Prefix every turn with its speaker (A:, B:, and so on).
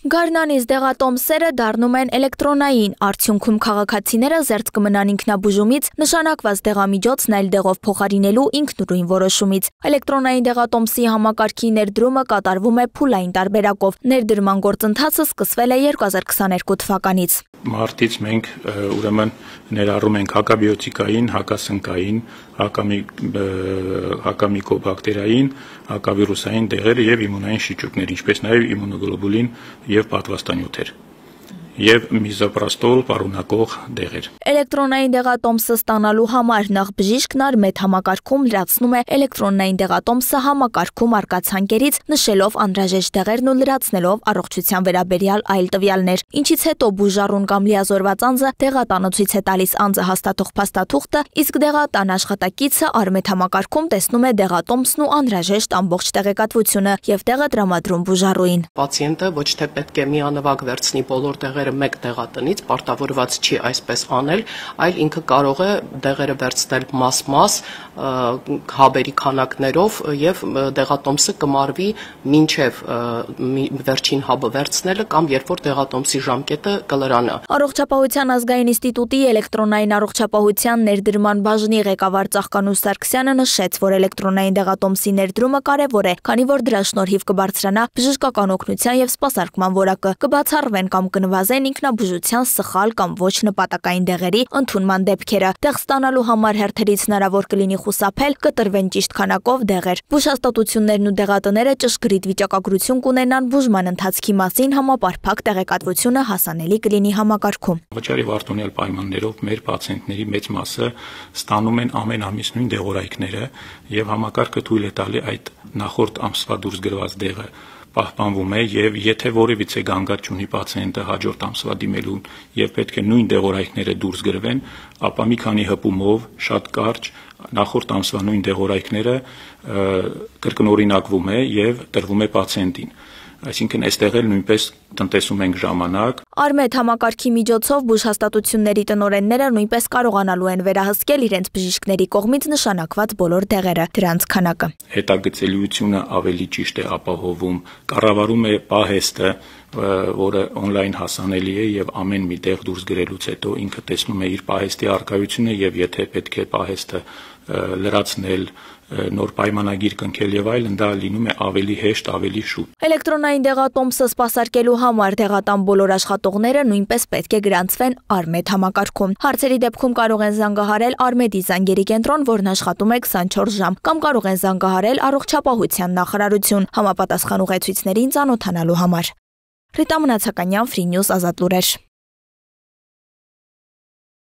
A: Գարնանից դեղատոմսերը դառնում են էլեկտրոնային, արդյունքում քաղաքացիները զերծ կմնան ինքնաբուժումից, նշանակված դեղամիջոցն այլ դեղով փոխարինելու ինքնուրույն որոշումից։ Էլեկտրոնային դեղատոմսի համակարգի ներդրումը կատարվում է փուլային տարբերակով։ Ներդրման գործընթացը սկսվել է 2022 թվականից։
B: Մարտից մենք ուրեմն ներառում ենք հակաբիոտիկային, հակասնկային, հակամիկոբակտերիային, հակավիրուսային դեղեր եւ իմունային շիճուկներ, ինչպես նաեւ իմունոգլոբուլին եւ պատվաստանյութեր եւ միզոպրաստոլ պարունակող դեղեր։
A: Էլեկտրոնային դեղատոմսը ստանալու համար նախ բժիշկն Արմեդ համակարգում լրացնում է էլեկտրոնային դեղատոմսը համակարգում առկա ցանկերից, նշելով անհրաժեշտ դեղերն ու լրացնելով առողջության վերաբերյալ այլ տվյալներ, ինչից հետո բուժառուն կամ լիազորված անձը դեղատանոցից է տալիս անձը հաստատող փաստաթուղթը, իսկ դեղատան աշխատակիցը Արմեդ համակարգում տեսնում է դեղատոմսն ու անհրաժեշտ ամբողջ տեղեկատվությունը եւ տեղը տրամադրում բուժառուին։
C: Պացիենտը ոչ թե պետք է միանվագ վերցնի բոլոր դեղերը մեկ դեղատնից, պարտավորված չի այսպես անել, այլ ինքը կարող է դեղերը վերցնել մաս-մաս, հաբերի քանակներով եւ դեղատոմսը կմարվի մինչեւ վերջին հաբը վերցնելը կամ երբ որ դեղատոմսի ժամկետը կլրանա։
A: Առողջապահության ազգային ինստիտուտի էլեկտրոնային առողջապահության ներդրման բաժնի ղեկավար Ծաղկանուս Սարգսյանը նշեց, որ էլեկտրոնային դեղատոմսի ներդրումը կարևոր է, քանի որ դրա շնորհիվ կբարձրանա բժշկական օգնության եւ սպասարկման որակը, կբացառվեն կամ կնվազեն ինքնաբուժության սխալ կամ ոչ նպատակային դեղերի ընդունման դեպքերը։ Դեղ ստանալու համար հերթերից հնարավոր կլինի խուսափել, կտրվեն ճիշտ քանակով դեղեր։ Բուժհաստատություններն ու դեղատները ճշգրիտ վիճակագրություն կունենան բուժման ընթացքի մասին, համապարփակ տեղեկատվությունը հասանելի կլինի համակարգում։
B: Վճարի վարդոնյալ պայմաններով մեր պացիենտների մեծ մասը ստանում են ամեն ամիս նույն դեղորայքները եւ համակարգը թույլ է տալի այդ նախորդ ամսվա դուրս գրված դեղը պահպանվում է եւ եթե որևիցե գանգատ չունի պացիենտը հաջորդ ամսվա դիմելուն եւ պետք է նույն դեղորայքները դուրս գրվեն, ապա մի քանի հպումով շատ կարճ նախորդ ամսվա նույն դեղորայքները կրկնօրինակվում է եւ տրվում է պացիենտին։ Այսինքն այստեղ էլ նույնպես տնտեսում ենք ժամանակ։
A: Արմեդ համակարգի միջոցով բուժհաստատությունների տնօրենները նույնպես կարողանալու են վերահսկել իրենց բժիշկների կողմից նշանակված բոլոր դեղերը, դրանց քանակը։
B: Հետագծելիությունը ավելի ճիշտ է ապահովում, կառավարում է պահեստը, որը on-line հասանելի է եւ ամեն մի տեղ դուրս գրելուց հետո ինքը տեսնում է իր պահեստի առկայությունը եւ եթե պետք է պահեստը լրացնել, նոր պայմանագիր կնքել եւ այլն, դա լինում է ավելի հեշտ, ավելի շուտ։
A: Էլեկտրոնային դեղատոմսը սպասարկելու համար դեղատան բոլոր աշխատողները նույնպես պետք է գրանցվեն Արմեդ համակարգում։ Հարցերի դեպքում կարող են զանգահարել Արմեդի զանգերի կենտրոն, որն աշխատում է 24 ժամ, կամ կարող են զանգահարել Առողջապահության նախարարություն համապատասխան ուղեցույցներին ծանոթանալու համար։ Ռիտա Մնացականյան, Free News, Ազատ լուրեր։